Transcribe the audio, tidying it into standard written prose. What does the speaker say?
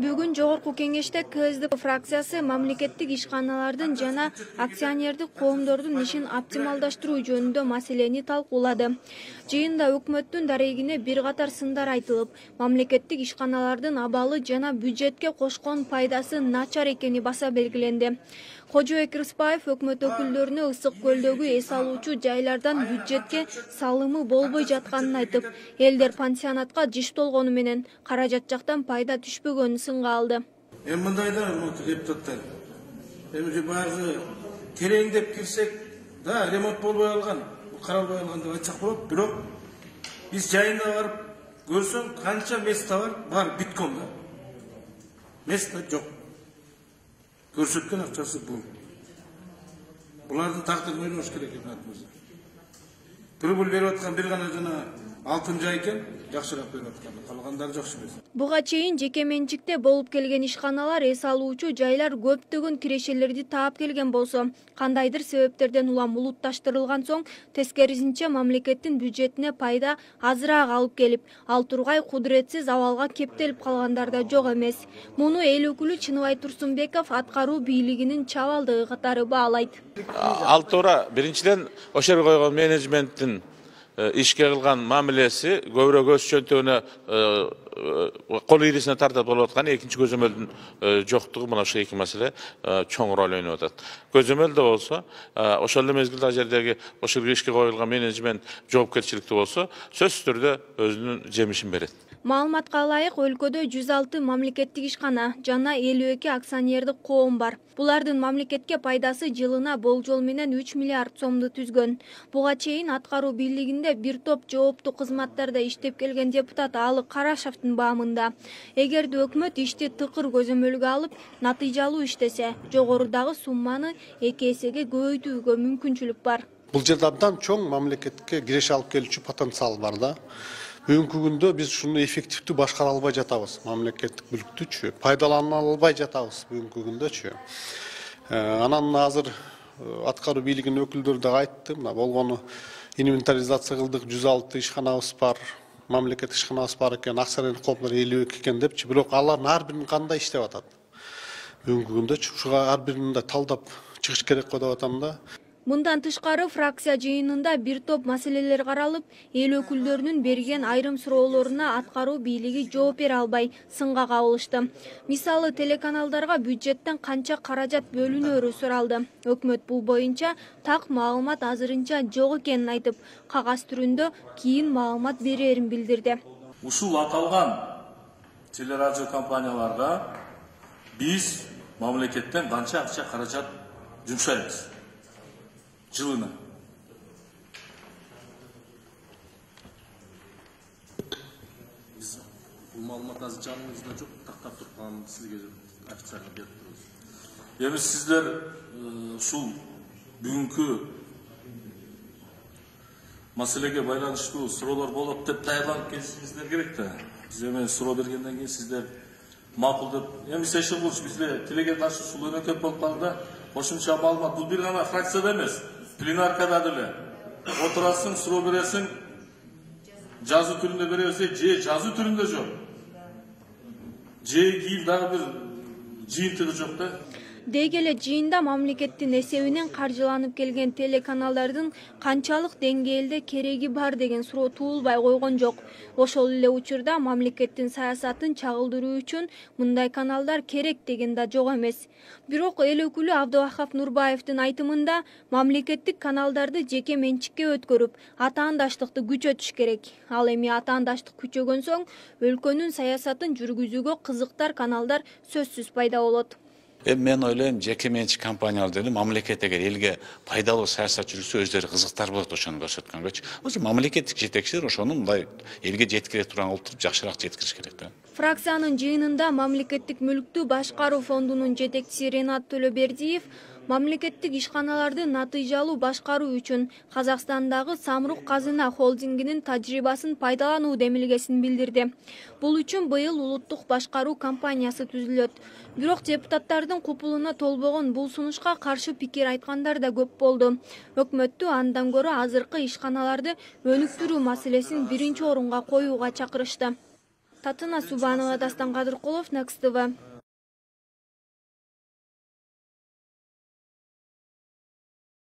Бүгүн жогорку кеңеште КСДП фракциясы мамлекеттик ишканалардын жана акционердик коомдордун ишин оптималдаштыруу жөнүндө маселени талкуулады. Жыйында өкмөттүн дарегине бир катар сындар айтылып, мамлекеттик ишканалардын абалы жана бюджетке кошкон пайдасы начар экени баса белгиленди. Кожобек Рыспаев өкмөт өкүлдөрүнө ысык көлдөгү эс алуучу жайлардан бюджетке салымы болбой жатканын айтып, элдер пансионатка жыш толгону менен каражат жактан пайда түшпөгөнүн сынга алды. Мындайда депутаттар, баягы терең деп кирсек, да ремонт болбой калган, каралбай калган деп айтсак болот, бирок биз жайына барып көрсөң, канча место бар биткон да. Место жок. Көрсөткөн акчасы бул. Булардын тагдырын ойлош керек өкмөтүбүз. Прибыль берип аткан бир гана жана алтын жай экен, жакшыраак берип аткан. Калгандары жакшы эмес. Буга чейин жеке менчикте болуп келген ишканалар эс алуучу жайлар көптөгөн кирешелерди таап келген болсо, кандайдыр себептерден улам улутташтырылган соң, тескерисинче мамлекеттин бюджетине пайда азыраак алып келип, ал тургай кудуретсиз абалга кептелип калгандар да жок эмес. Муну эл өкүлү Чыныбай Турсунбеков аткаруу бийлигинин чабалдыгы катары баалайт. Ал туура биринчиден ошол жерге койгон менеджменттин ишке кылган мамилеси көбүрөөк өз чөнтөгүнө кол ийресине тартат болуп аткан, экинчи көзөмөлдүн жоктугу мына ошол эки маселе чоң роль ойноп атат. Көзөмөлдө болсо, ошол эле мезгилде ал жердеги ошол ишке коюлган менеджмент жоопкерчиликтүү болсо, сөзсүз түрдө өзүнүн жемишин берет. Маалыматка ылайык, өлкөдө 106 мамлекеттик ишкана жана 52 акционердик коом бар. Булардын мамлекетке пайдасы жылына болжол менен 3 миллиард сомду түзгөн. Буга чейин аткаруу бийлигинде бир топ жооптуу кызматтарда иштеп келген депутат Алык Карашевдин баамында. Эгерде өкмөт ишти тыкыр көзөмөлгө алып, натыйжалуу иштесе, жогорудагы сумманы 2 эсеге көбөйтүүгө мүмкүнчүлүк бар. Бул жерде абдан чоң мамлекетке киреше алып келүүчү потенциал бар да. Бүгүнкү күндө биз ушуну эффективдүү башкара албай жатабыз. Мамлекеттик мүлктүчү пайдалана албай жатабыз бүгүнкү күндөчү. Анан азыр аткаруу бийлигинин өкүлдөрү да айтты, мына болгону инвентаризация кылдык, 106 ишканабыз бар, мамлекеттик ишканабыз бар экен, акционерлик коомдор 52 экен депчи, бирок алардын ар бирин кандай иштеп атат? Бүгүнкү күндөчү ушуга ар бирин талдап чыгыш керек го деп атам да. Мындан тышкары фракция жыйынында бир топ маселелер каралып, эл өкүлдөрүнүн берген айрым суроолоруна аткаруу бийлиги жооп бере албай сынга кабылышты. Мисалы, телеканалдарга бюджеттен канча каражат бөлүнөрү суралды. Өкмөт бул боюнча так маалымат азырынча жок экенин айтып, кагаз түрүндө кийин маалымат берерин билдирди. Ушул аталган телерадио компанияларга биз мамлекеттен канча акча каражат жумшайбыз жылына? Бул маалымат азыр жаныңызда жок, тактап турган сизге официально берип турабыз. Эми сиздер ушул бүгүнкү маселеге байланыштуу суроолор болот деп даярданып келишиңиздер керек да. Биз эми суроо бергенден кийин сиздер макул деп, эми Сейшелбурч бизде тилеге каршы ушул өнөкөт болуп калды да. Кошумча маалымат бул бир гана фракцияда эмес, пленаркада деле отурасың, суроо бересиң, жазуу түрүндө бересиң, же жазуу түрүндө жок. Же кийин дагы бир жыйынтыгы жок да. Деги эле жыйында мамлекеттин эсебинен каржыланып келген телеканалдардын канчалык деңгээлде кереги бар деген суроо туулбай койгон жок. Ошол эле учурда мамлекеттин саясатын чагылдыруу үчүн мындай каналдар керек деген да жок эмес. Бирок эл өкүлү Абдывахап Нурбаевдин айтымында мамлекеттик каналдарды жеке менчикке өткөрүп, атаандаштыкты күчөтүш керек. Ал эми атаандаштык күчөгөн соң, өлкөнүн саясатын жүргүзүүгө кызыктар каналдар сөзсүз пайда болот. Мен ойлойм, жеке менчик компаниялар деле мамлекет эгер элге пайдалуу саясат жүргүзсө өздөрү кызыктар болот ошону көрсөткөнгөчү. Ошо мамлекеттик жетекчилер ошону мындай элге жеткире турган кылып жакшыраак жеткириш керек да. Фракциянын жыйынында мамлекеттик мүлктү башкаруу фондунун жетекчиси Ренат Төлөбердиев мамлекеттик ишканаларды натыйжалуу башкаруу үчүн Казакстандагы Самрук Казына холдингинин тажрыйбасын пайдалануу демилгесин билдирди. Бул үчүн быйыл улуттук башкаруу компаниясы түзүлөт. Бирок депутаттардын купулуна толбогон бул сунушка каршы пикир айткандар да көп болду. Өкмөттү андан көрө азыркы ишканаларды өнүктүрүү маселесин биринчи орунга коюуга чакырышты. Татына Субанова, Дастан Кадыркулов, Next TV.